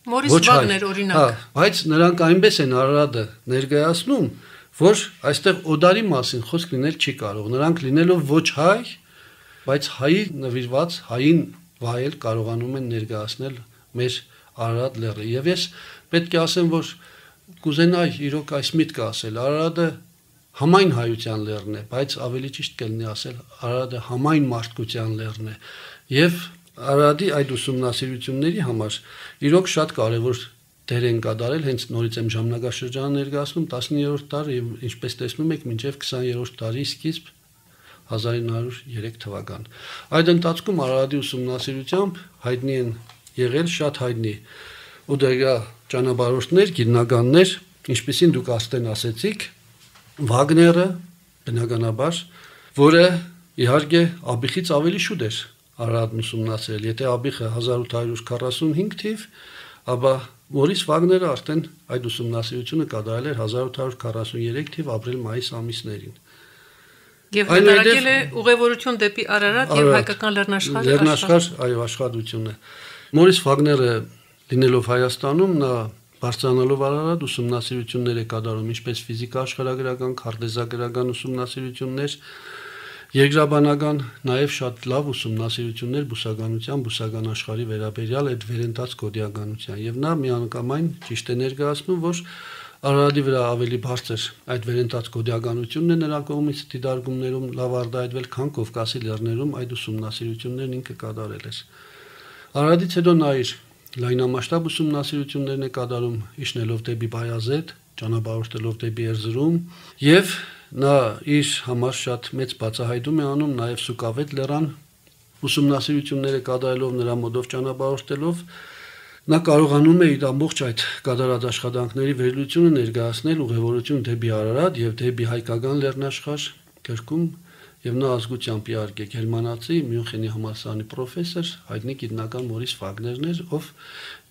Մորիս Վագներ օրինակ։
Հա, բայց նրանք այնպես են Արարատը ներկայացնում, որ այստեղ օդարի մասին խոսք լինել չի կարող։ Նրանք լինելով ոչ հայ, բայց հայի նվիրված հային վայել կարողանում են ներկայացնել մեր Արարատ լեռը։ Եվ ես պետք է ասեմ, որ կուզենայի իրոք այս միտքը ասել, Արարատը համայն հայության լեռն է, բայց ավելի ճիշտ կլինի ասել Արարատը համայն մարդկության լեռն է։ Եվ Արարատի այդ ուսումնասիրությունների համար իրոք շատ կարևոր դեր են կատարել, հենց նորից եմ ժամանակաշրջանը ներկայացնում տասնիններորդ դար եւ ինչպես տեսնում եք մինչեւ քսաներորդ դարի սկիզբ հազար ինը հարյուր երեք թվական։ Այդ ընթացքում Արարատի ուսումնասիրությամբ հայտնի են եղել շատ հայտնի օդեգա ճանապարհորդներ, գիտնականներ, ինչպեսին դուք աստեն ասեցիք, Վագները, բնականաբար, որը իհարկե Աբիխից ավելի շուտ էր Արարատն ուսումնասիրել։ Եթե Աբիխը հազար ութ հարյուր քառասունհինգ թիվ, ապա Մորիս Վագները արդեն այդ ուսումնասիրությունը կատարել էր հազար ութ հարյուր քառասուներեք թիվ ապրիլ-մայիս ամիսներին։
Եվ հրատարակել է ուղևորություն դեպի Արարատ եւ հայկական լեռնաշխարհ
լեռնաշխարհ այո աշխատությունը։ Մորիս Վագները լինելով Հայաստանում, նա բարձրանալով Արարատ ուսումնասիրություններ է կատարում, ինչպես ֆիզիկա աշխարհագրական, քարտեզագրական ուսումնասիրություններ, երկրաբանական, նաև շատ լավ ուսումնասիրություններ բուսականության, բուսական աշխարհի վերաբերյալ այդ վերընթաց կոդիականության։ Եվ նա միանգամայն ճիշտ է ներկայացնում, որ Արարատի վրա ավելի բարձր այդ վերընթաց կոդիականությունն է նրա կողմից դիտարկումներում լավ արտահայտվել, քան Կովկասի լեռներում այդ ուսումնասիրություններն ինքը կատարել էր։ Արարատից հետո նա իր լայնամասշտաբ ուսումնասիրություններն է կատարում, իջնելով դեպի Բայազեդ, ճանապարհորդելով դեպի Էրզրում, եւ նա իր համար շատ մեծ բացահայտում է անում նաև Սուկավետ լեռան ուսումնասիրությունները կատարելով նրա մոդով ճանապարհորդելով նա կարողանում է իր ամբողջ այդ կատարած աշխատանքների վերլուծությունը ներկայացնել ուղևորություն դեպի Արարատ եւ դեպի հայկական լեռնաշխարհ գրքում եւ նա ազգությամբ իհարկե գերմանացի Մյունխենի համալսարանի պրոֆեսոր հայտնի գիտնական Մորիս Վագներն էր, ով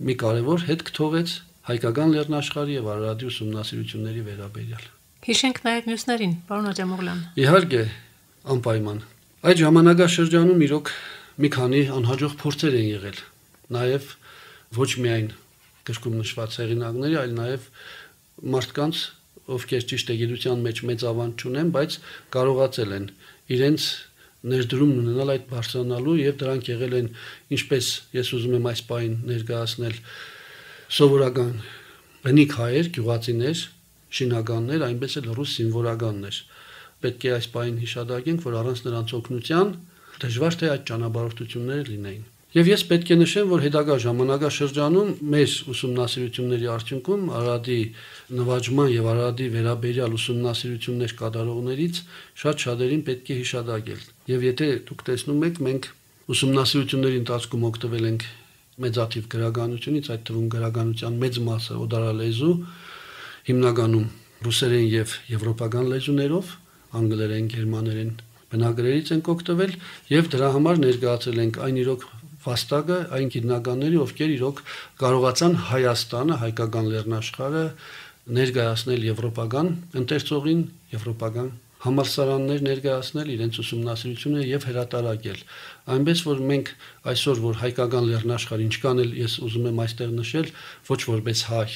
մի կարևոր հետք թողեց հայկական լեռնաշխարհի եւ Արարատի ուսումնասիրությունների վերաբերյալ։
Հիշենք նաև մյուսներին, պարոն Աջամողլյան։
Իհարկե, անպայման։ Այդ ժամանակաշրջանում իրոք մի քանի անհաջող փորձեր են եղել, նաև ոչ միայն գրքում նշված հեղինակների, այլ նաև մարդկանց, ովքեր ճիշտ է գիտության մեջ մեծ ավանդ չունեն, բայց կարողացել են իրենց ներդրումն ունենալ այդ բարձրանալու եւ դրանք եղել են, ինչպես ես ուզում եմ այս պահին ներկայացնել, սովորական բնիկ հայեր, գյուղացիներ, շինականներ, այնպես էլ ռուս զինվորականներ։ Պետք է այս պահին հիշադակենք, որ առանց նրանց օգնության դժվար թե այդ ճանապարհորդությունները լինեին։ Եվ ես պետք է նշեմ, որ հետագա ժամանակաշրջանում մեր ուսումնասիրությունների արդյունքում Արարատի նվաճման եւ Արարատի վերաբերյալ ուսումնասիրություններ կատարողներից շատ շատերին պետք է հիշադակել։ Եվ եթե դուք տեսնում եք, մենք ուսումնասիրությունների ընթացքում օգտվել ենք մեծաթիվ գրականությունից, այդ թվում գրականության մեծ մասը օդարալեզու, հիմնականում ռուսերեն եւ եվրոպական լեզուներով, անգլերեն, գերմաներեն բնագրերից ենք օգտվել եւ դրա համար ներկայացրել ենք այն իրոք վաստակը, այն գիտնականների, ովքեր իրոք կարողացան Հայաստանը, հայկական լեռնաշխարհը ներկայացնել եվրոպական ընթերցողին, եվրոպական համալսարաններ ներկայացնել իրենց ուսումնասիրությունը եւ հրատարակել։ Այնպես որ մենք այսօր որ հայկական լեռնաշխարհ ինչքան էլ ես ուզում եմ այստեղ նշել, ոչ որպես հայ,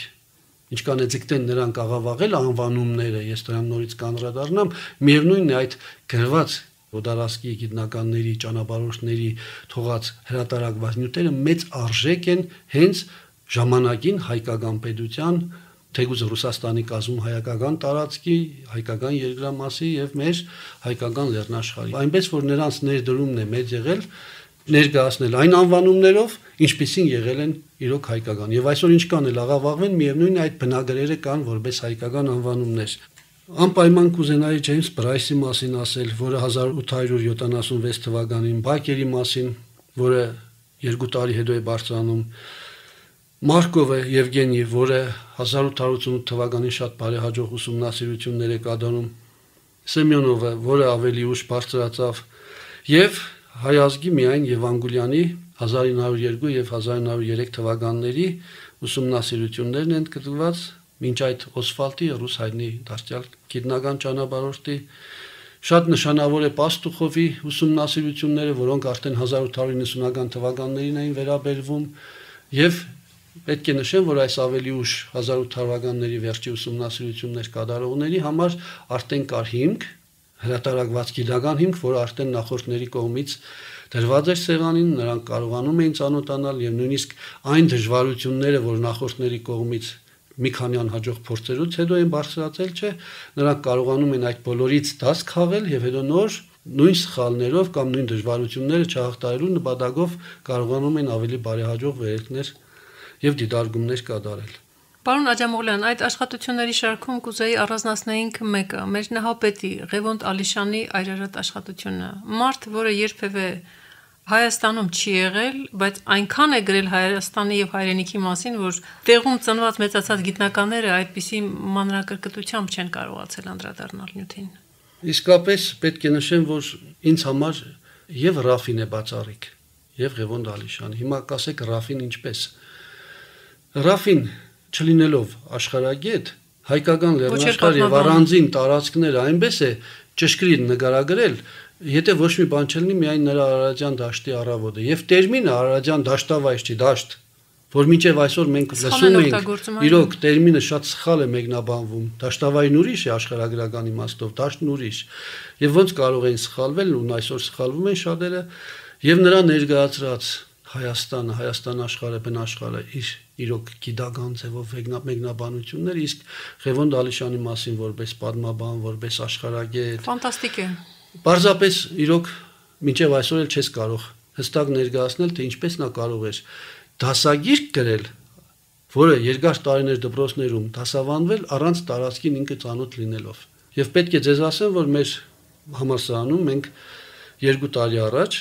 ինչքան է ձգտեն նրանք աղավաղել անվանումները, ես դրան նորից կանդրադառնամ, միևնույնն է այդ գրված օդարասկի գիտնականների, ճանապարհորդների թողած հրատարակված նյութերը մեծ արժեք են հենց ժամանակին հայկական պետության թեգուզ Ռուսաստանի կազմում հայկական տարածքի, հայկական երկրամասի եւ մեր հայկական լեռնաշխարհի։ Այնպես որ նրանց ներդրումն է մեծ եղել ներկայացնել այն անվանումներով, ինչպիսին եղել են իրոք հայկական։ Եվ այսօր ինչքան էլ աղավաղվեն, միևնույնն է այդ բնագրերը կան որպես հայկական անվանումներ։ Անպայման կուզենայի Ջեյմս Բրայսի մասին ասել, որը հազար ութ հարյուր յոթանասունվեց թվականին, Բակերի մասին, որը երկու տարի հետո է բարձրանում, Մարկովը Եվգենի, որը հազար ութ հարյուր ութսունութ թվականին շատ բարեհաջող ուսումնասիրություններ է կատարում, Սեմյոնովը, որը ավելի ուշ բարձրացավ, եւ հայ ազգի միայն Եվանգուլյանի հազար ինը հարյուր երկու եւ հազար ինը հարյուր երեք թվականների ուսումնասիրություններն են գտնված, մինչ այդ Օսվալդի ռուս հայտնի դաստիարակ գիտնական ճանապարհորդի շատ նշանավոր է Պաստուխովի ուսումնասիրությունները, որոնք արդեն հազար ութ հարյուր նվեցունական թվականներին էին վերաբերվում եւ պետք է նշեմ, որ այս ավելի ուշ հազար ութ հարյուրականների վերջի ուսումնասիրություններ կատարողների համար արդեն կար հիմք, հրատարակված գիտական հիմք, որը արդեն նախորդների կողմից դրված էր սեղանին, նրանք կարողանում էին ծանոթանալ եւ նույնիսկ այն դժվարությունները, որ նախորդների կողմից մի քանի անհաջող փորձերից հետո են բարձրացել, չէ, նրանք կարողանում են այդ բոլորից դաս քաղել եւ հետո նոր նույն սխալներով կամ նույն դժվարությունները չհաղթահարելու նպատակով կարողանում են ավելի բարեհաջող վերելքներ եւ դիտարկումներ կատարել։
Պարոն Աջամողլյան, այդ աշխատությունների շարքում կուզեի առանձնացնեինք մեկը, մեր նահապետի Ղևոնդ Ալիշյանի այրարատ աշխատությունը։ Մարդ, որը երբևէ Հայաստանում չի եղել, բայց այնքան է գրել Հայաստանի եւ հայրենիքի մասին, որ տեղում ծնված մեծացած գիտնականները այդպիսի մանրակրկտությամբ չեն կարողացել անդրադառնալ նյութին։
Իսկապես պետք է նշեմ, որ ինձ համար եւ Ռաֆին է բացառիկ, եւ Ղևոնդ Ալիշյանը։ Հիմա կասեք Ռաֆին ինչպես։ Ռաֆին չլինելով աշխարհագետ, հայկական լեռնաշխարհ եւ առանձին տարածքները այնպես է ճշգրիտ նկարագրել, եթե ոչ մի բան չլինի, միայն նրա Արարատյան դաշտի առավոտը եւ տերմինը Արարատյան դաշտավայր չի, դաշտ, որ մինչեւ այսօր մենք լսում ենք, իրոք տերմինը շատ սխալ է մեկնաբանվում, դաշտավայրն ուրիշ է աշխարհագրական իմաստով, դաշտն ուրիշ, եւ ոնց կարող են սխալվել ու այսօր սխալվում են շատերը, եւ նրա ներկայացրած Հայաստանը, Հայաստան աշխարհը, բնաշխարհը իր իրոք գիտական ձևով մեկնաբանություններ, իսկ Ղևոնդ Ալիշյանի մասին որպես պատմաբան, որպես աշխարհագետ
ֆանտաստիկ է։
Պարզապես իրոք մինչև այսօր էլ չես կարող հստակ ներկայացնել, թե ինչպես նա կարող էր դասագիրք գրել, որը երկար տարիներ դպրոցներում դասավանդվել առանց տարածքին ինքը ծանոթ լինելով։ Եվ պետք է ձեզ ասեմ, որ մեր համալսարանում մենք երկու տարի առաջ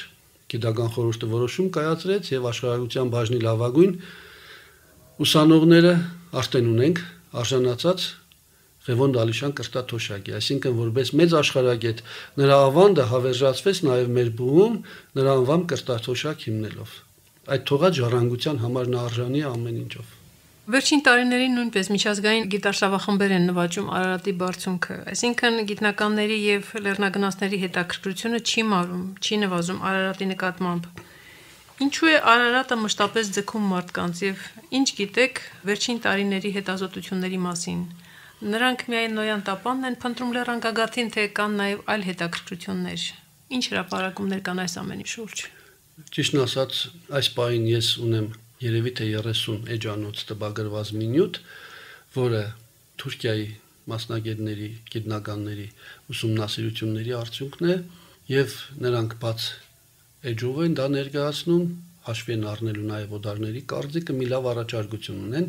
գիտական խորհուրդը որոշում կայացրեց եւ աշխարհագրության բաժնի լավագույն ուսանողները արդեն ունենք արժանացած Ղևոնդ Ալիշյան կրտաթոշակի, այսինքն որպես մեծ աշխարհագետ նրա ավանդը հավերժացվեց նաեւ մեր բուհում նրա անվան կրտաթոշակ հիմնելով։ Այդ թողած ժառանգության համար նա արժանի է ամեն ինչով։
Վերջին տարիներին նույնպես միջազգային գիտարշավախմբեր են նվաճում Արարատի բարձունքը, այսինքն գիտնականների եւ լեռնագնացների հետաքրքրությունը չի մարում, չի նվազում Արարատի նկատմամբ։ Ինչու է Արարատը մշտապես ձգում մարդկանց եւ ինչ գիտեք վերջին տարիների հետազոտությունների մասին։ Նրանք միայն նոյան տապանն են փնտրում լեռնագագաթին, թե կան նաեւ այլ հետաքրքրություններ։ Ինչ հրապարակումներ կան այս ամենի շուրջ։
Ճիշտն ասած, այս պահին ես ունեմ երևի թե երեսուն էջանոց տպագրված մի նյութ, որը Թուրքիայի մասնագետների, գիտնականների ուսումնասիրությունների արդյունքն է, եւ նրանք բաց էջով են դա ներկայացնում, հաշվի են առնելու նաեւ օդարների կարծիքը, մի լավ առաջարկություն ունեն,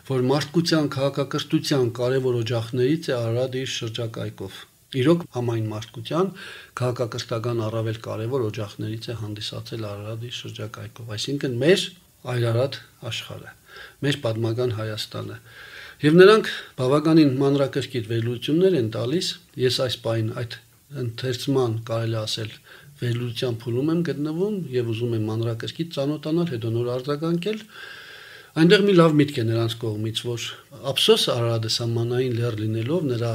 որ մարդկության քաղաքակրթության կարևոր օջախներից է Արարատը իր շրջակայքով։ Իրոք համայն մարդկության քաղաքակրթական առավել կարևոր օջախներից է հանդիսացել Արարատը իր շրջակայքով, այսինքն մեր այրարատ աշխարհը, մեր պատմական Հայաստանը։ Եվ նրանք բավականին մանրակրկիտ վերլուծություններ են տալիս, ես այս պայն այդ ընթերցման կարելի ասել վերլուծության փուլում եմ գտնվում եւ ուզում եմ մանրակրկիտ ծանոթանալ, հետո նոր արձագանքել։ Այնտեղ մի լավ միտք է նրանց կողմից, որ ափսոս Արարատը սահմանային լեռ լինելով նրա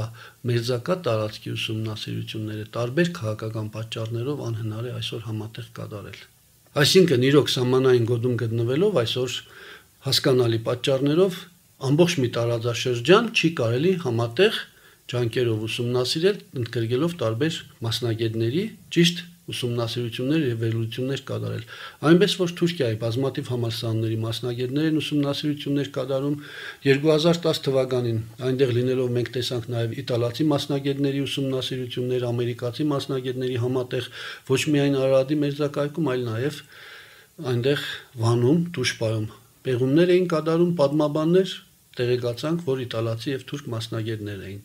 մերձակա տարածքի ուսումնասիրությունները տարբեր քաղաքական պատճառներով անհնար է այսօր համատեղ կատարել։ Այսինքն իրոք սահմանային գոտում գտնվելով այսօր հասկանալի պատճառներով ամբողջ մի տարածաշրջան չի կարելի համատեղ ջանքերով ուսումնասիրել, ընդգրկելով տարբեր մասնագետների ճիշտ ուսումնասիրություններ եւ վերլուծություններ կատարել։ Այնպես որ Թուրքիայի բազմաթիվ համալսարանների մասնագետներ են ուսումնասիրություններ կատարում երկու հազար տասը թվականին այնտեղ լինելով մենք տեսանք նաեւ իտալացի մասնագետների ուսումնասիրություններ, ամերիկացի մասնագետների համատեղ ոչ միայն Արարատի մերձակայքում, այլ նաեւ այնտեղ Վանում, Տուշպայում պեղումներ էին կատարում պատմաբաններ, տեղեկացանք, որ իտալացի եւ թուրք մասնագետներ էին։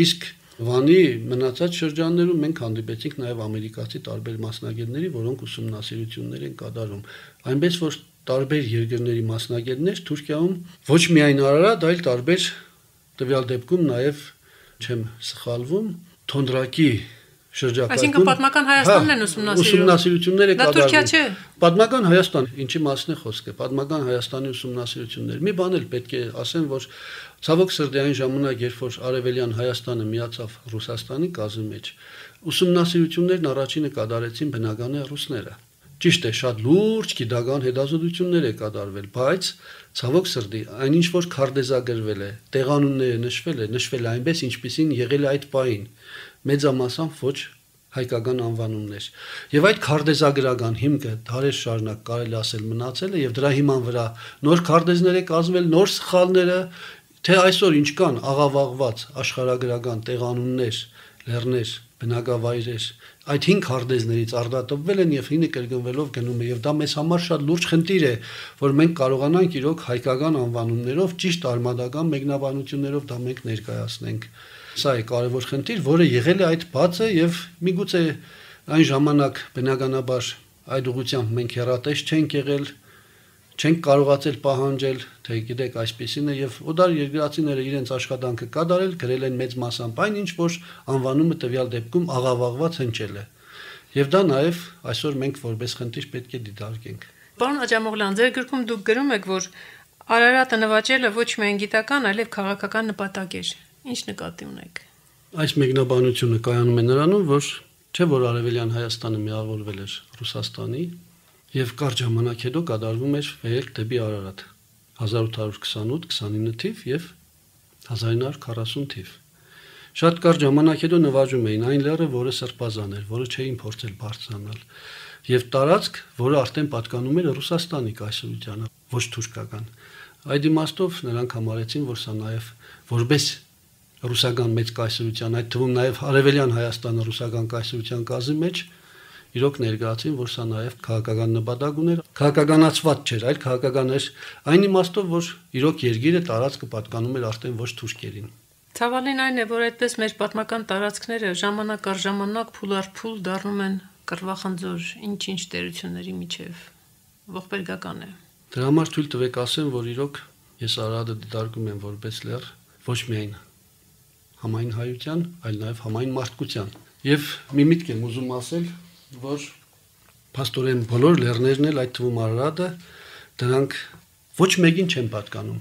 Իսկ Վանի մնացած շրջաններում մենք հանդիպեցինք նաև ամերիկացի տարբեր մասնագետների, որոնք ուսումնասիրություններ են կատարում։ Այնպես որ տարբեր երկրների մասնագետներ Թուրքիայում ոչ միայն Արարատ, այլ տարբեր տվյալ դեպքում նաև չեմ սխալվում, Թոնդրակի շրջակայքում։
Այսինքն պատմական Հայաստանն են ուսումնասիրում։
Ուսումնասիրություններ է
կատարում։ Դա Թուրքիա չէ։
Պատմական Հայաստան, ինչի մասն է խոսքը, պատմական Հայաստանի ուսումնասիրություններ։ Մի բան էլ պետք է ասեմ, որ ցավոք սրտի այն ժամանակ, երբ որ Արևելյան Հայաստանը միացավ Ռուսաստանի կազմի մեջ, ուսումնասիրություններն առաջինը կատարեցին բնական է ռուսները։ Ճիշտ է, շատ լուրջ գիտական հետազոտություններ է կատարվել, բայց ցավոք սրտի այնինչ որ քարտեզագրվել է, տեղանունները նշվել է, նշվել է այնպես, ինչպիսին եղել է այդ պահին, մեծամասամբ ոչ հայկական անվանումներ։ Եվ այդ քարտեզագրական հիմքը դարեր շարունակ կարելի ասել մնացել է եւ դրա հիման վրա նոր քարտեզներ է կազմվել, նոր սխալները, թե այսօր ինչ կան աղավաղված աշխարհագրական տեղանուններ, լեռներ, բնակավայրեր, այդ հինգ քարտեզներից արդատոպվել են եւ հինը կրկնվելով գնում է եւ դա մեզ համար շատ լուրջ խնդիր է, որ մենք կարողանանք իրոք հայկական անվանումներով ճիշտ արմատական մեկնաբանություններով դա մենք ներկայացնենք։ Սա է կարևոր խնդիր, որը եղել է այդ բացը եւ միգուցե այն ժամանակ բնականաբար այդ ուղղությամբ մենք հեռատես չենք եղել, չենք կարողացել պահանջել, թե գիտեք այսպեսին է եւ օդար երկրացիները իրենց աշխատանքը կատարել, գրել են մեծ մասամբ այն ինչ որ անվանումը տվյալ դեպքում աղավաղված հնչել է։ Եվ դա նաեւ այսօր մենք որպես խնդիր պետք է դիտարկենք։
Պարոն Աջամօղլյան, ձեր գրքում դուք գրում եք, որ Արարատը նվաճելը ոչ միայն գիտական, այլև քաղաքական նպատակ էր։ Ինչ նկատի ունեք։
Այս մեկնաբանությունը կայանում է նրանում, որ չէ որ Արևելյան Հայաստանը միավորվել էր Ռուսաստանի եւ կարճ ժամանակ հետո կատարվում էր վերել դեպի Արարատ հազար ութ հարյուր քսանութ քսանինը թիվ եւ հազար ինը հարյուր քառասուն թիվ։ Շատ կարճ ժամանակ հետո նվաճում էին այն լեռը, որը սրբազան էր, որը չէին փորձել բարձրանալ եւ տարածք, որը արդեն պատկանում էր Ռուսաստանի կայսրությանը, ոչ թուրքական։ Այդ իմաստով նրանք համարեցին, որ սա նաեւ որպես ռուսական մեծ կայսրության, այդ թվում նաեւ Արևելյան Հայաստանը ռուսական կայսրության կազմի մեջ իրոք ներկայացին, որ սա նաեւ քաղաքական նպատակ ուներ, քաղաքականացված չէր, այլ քաղաքական էր այն իմաստով, որ իրոք երկիրը տարածքը պատկանում էր արդեն ոչ թուրքերին։
Ցավալին այն է, որ այդպես մեր պատմական տարածքները ժամանակ առ ժամանակ փուլ առ փուլ դառնում են կռվախնձոր ինչ-ինչ տերությունների միջև։ Ողբերգական է։
Դրա համար թույլ տվեք ասեմ, որ իրոք ես Արարատը դիտարկում եմ որպես լեռ, ոչ միայն համայն հայության, այլ նաև համայն մարդկության։ Եվ մի միտք եմ ուզում ասել, որ փաստորեն բոլոր լեռներն էլ, այդ թվում Արարատը, դրանք ոչ մեկին չեն պատկանում։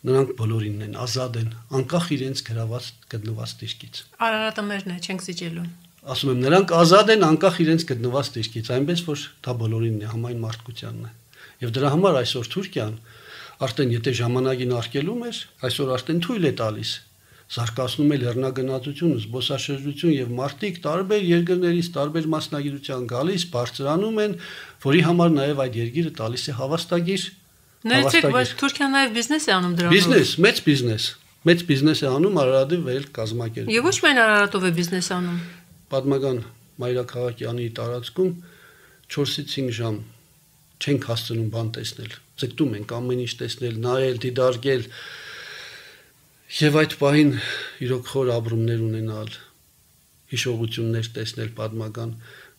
Նրանք բոլորին են, ազատ են, անկախ իրենց գրաված գտնված դիրքից։
Արարատը մերն է, չենք զիջելու։
Ասում եմ, նրանք ազատ են, անկախ իրենց գտնված դիրքից, այնպես որ դա բոլորինն է, համայն մարդկությանն է։ Եվ դրա համար այսօր Թուրքիան արդեն եթե ժամանակին արկելում էր, այսօր արդեն թույլ է տալիս, զարգացնում է լեռնագնացություն, զբոսաշրջություն եւ մարդիկ տարբեր երկրներից, տարբեր մասնագիտության գալիս, բարձրանում են, որի համար նաեւ այդ երկիրը տալիս է հավաստագիր։
Ներեցեք, բայց Թուրքիան նաեւ բիզնես է անում դրանով։
Բիզնես, մեծ բիզնես, մեծ բիզնես է անում Արարատի վեր կազմակերպում։
Եվ ոչ միայն Արարատով է բիզնես անում։
Պատմական մայրաքաղաքի տարածքում չորսից հինգ ժամ չենք հասցնում բան տեսնել։ Ձգտում ենք ամեն ինչ տեսնել, նայել, դիտարկել։ Եվ այդ պահին իրոք խոր ապրումներ ունենալ, հիշողություններ տեսնել պատմական,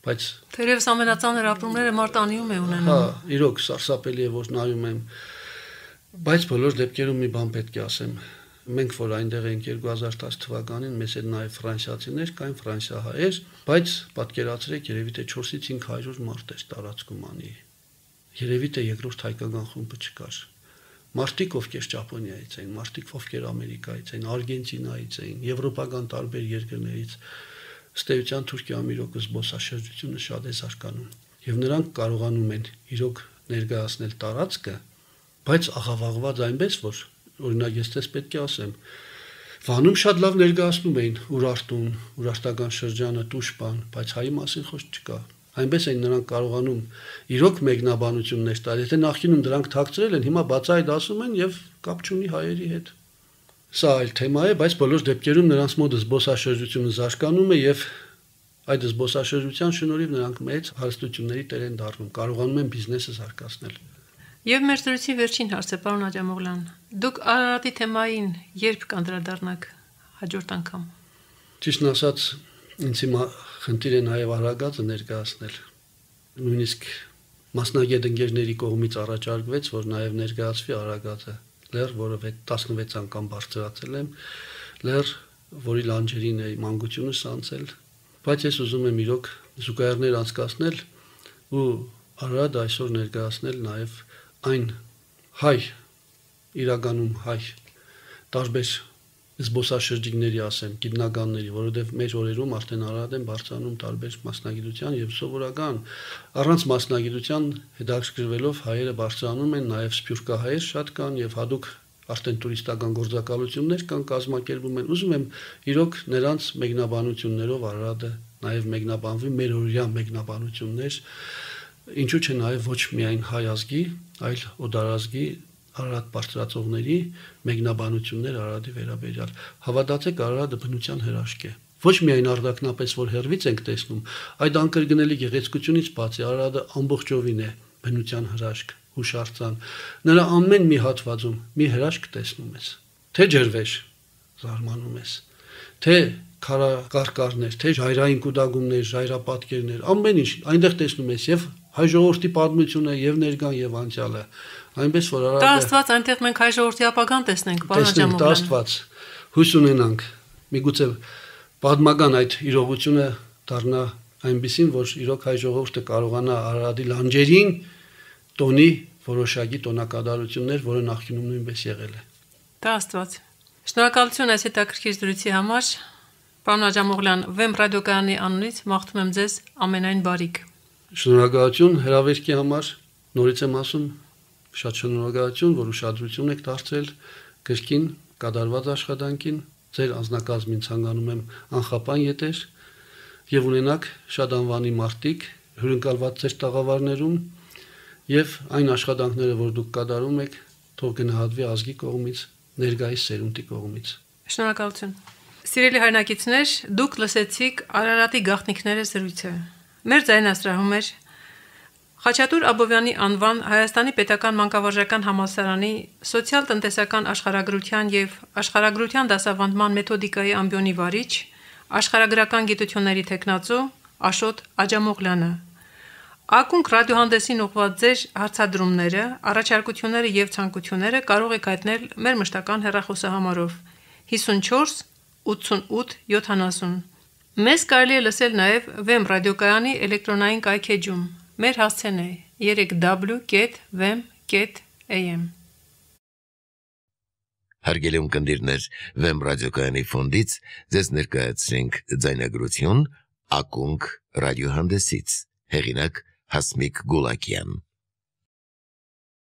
բայց
Թերևս ամենածանր ապրումները մարտանիում է ունենում։
Հա, իրոք սարսափելի է, որ նայում եմ, բայց բոլոր դեպքերում մի բան պետք է ասեմ։ Մենք որ այնտեղ ենք երկու հազար տասը թվականին, մեզ հետ նաև ֆրանսիացիներ կային, ֆրանսիահայեր, բայց պատկերացրեք, երևի թե չորսից հինգ հարյուր մարդ էր տարածքում անի։ Երևի թե երկրորդ հայկական խումբը չկար։ Մարդիկ ովքեր Ճապոնիայից էին, մարդիկ ովքեր Ամերիկայից էին, Արգենտինայից էին, եվրոպական տարբեր երկրներից, ըստ էության Թուրքիայում իրոք զբոսաշրջությունը շատ է զարգանում, եւ նրանք կարողանում են իրոք ներկայացնել տարածքը, բայց աղավաղված այնպես, որ օրինակ ես դες պետք է ասեմ, Վանում շատ լավ ներկայացնում էին Ուրարտուն, Ուրարտական շրջանը, Տուշպան, բայց հայի մասին խոսք չկա։ Այնպես են նրանք կարողանում իրոք մեկնաբանություններ տալ, եթե նախկինում դրանք թաքցրել են, հիմա բացահայտ ասում են եւ կապ չունի հայերի հետ։ Սա այլ թեմա է, բայց բոլոր դեպքերում նրանց մոտ զբոսաշրջությունը զարգանում է եւ այդ զբոսաշրջության շնորհիվ նրանք մեծ հարստությունների տեր են դառնում, կարողանում են բիզնեսը զարգացնել։
Եվ մեր զրույցի վերջին հարցը, պարոն Աջամօղլյան, դուք Արարատի թեմային երբ կանդրադառնաք հաջորդ անգամ։
Ճիշտն ասած, ինձ հիմա խնդիր է նաև Արագածը ներկայացնել։ Նույնիսկ մասնագետ ընկերների կողմից առաջարկվեց, որ նաև ներկայացվի Արագածը, լեռ, որը տասնվեց անգամ բարձրացել եմ, լեռ, որի լանջերին է մանկությունս անցել, բայց ես ուզում եմ իրոք զուգահեռներ անցկացնել ու Արարատը այսօր ներկայացնել նաև այն հայ, իրականում հայ, տարբեր զբոսաշրջիկների ասեմ, գիտնականների, որովհետև մեր օրերում արդեն Արարատ են բարձրանում տարբեր մասնագիտության եւ սովորական առանց մասնագիտության հետաքրքրվելով հայերը բարձրանում են, նաեւ սփյուռքահայեր շատ կան եւ հadoop արդեն տուրիստական գործակալություններ կան, կազմակերպում են։ Ուզում եմ իրոք նրանց մեկնաբանություններով Արարատը նաեւ մեկնաբանվի, մեր օրյա մեկնաբանություններ, ինչու՞ չէ նաեւ ոչ միայն հայ ազգի, այլ օդարազգի Արարատ բարձրացողների մեկնաբանություններ Արարատի վերաբերյալ։ Հավատացեք, Արարատը բնության հրաշք է։ Ոչ միայն արդակնապես որ հերվից ենք տեսնում, այդ անկրկնելի գեղեցկությունից բացի Արարատը ամբողջովին է բնության հրաշք, հուշարձան։ Նրա ամեն մի հատվածում մի հրաշք տեսնում ես։ Թե ջրվեժ, զարմանում ես, թե քարակարկառներ, թե ժայռային կուտակումներ, ժայռապատկերներ, ամեն ինչ այնտեղ տեսնում ես եւ հայ ժողովրդի պատմությունը եւ ներկան եւ անցյալը։ Այնպես որ Արարատը
Դա Աստված այնտեղ մենք հայ ժողովրդի ապագան տեսնենք, պարոն Աջամօղլյան։
Դա Աստված հույս ունենանք։ Միգուցե պատմական այդ իրողությունը դառնա այնպեսին, որ իրոք հայ ժողովուրդը կարողանա Արարատի լանջերին տոնի որոշակի տոնակատարություններ, որը նախկինում նույնպես եղել է։
Դա Աստված։ Շնորհակալություն այս հետաքրքիր զրույցի համար։ Պարոն Աջամօղլյան, Վեմ ռադիոկայանի անունից մաղթում եմ ձեզ ամենայն բարիք։
Շնորհակալություն հրավերքի համար։ Նորից եմ ասում, շատ շնորհակալություն, որ ուշադրություն եք դարձրել գրքին, կատարված աշխատանքին, ձեր անձնակազմին ցանկանում եմ անխափան ետեր եւ ունենաք շատ անվանի մարտիկ հյուրընկալված ձեր տաղավարներում եւ այն աշխատանքները, որ դուք կատարում եք, թող գնահատվի ազգի կողմից, ներկայիս սերունդի կողմից։
Շնորհակալություն։ Սիրելի հայրենակիցներ, դուք լսեցիք Արարատի գաղտնիքները զրույցը։ Մեր ձայնասրահում էր Խաչատուր Աբովյանի անվան Հայաստանի Պետական Մանկավարժական Համալսարանի սոցիալ-տնտեսական աշխարհագրության եւ աշխարհագրության դասավանդման մեթոդիկայի ամբիոնի վարիչ, աշխարհագրական գիտությունների թեկնածու Աշոտ Աջամօղլյանը։ Ակունք ռադիոհանդեսին ուղղված ձեր հարցադրումները, առաջարկությունները եւ ցանկությունները կարող եք հայտնել մեր մշտական հեռախոսահամարով հիսունչորս ութսունութ յոթանասուն։ Մեզ կարելի է լսել նաեւ Վեմ ռադիոկայանի էլեկտրոնային կայքեջում։ Մեր հասցեն է երեք w կետ վեմ կետ a m։
Հարգելի ունկնդիրներ, Վեմ ռադիոկայանի ֆոնդից ձեզ ներկայացրինք ձայնագրություն Ակունք ռադիոհանդեսից, հեղինակ Հասմիկ Գուլակյան։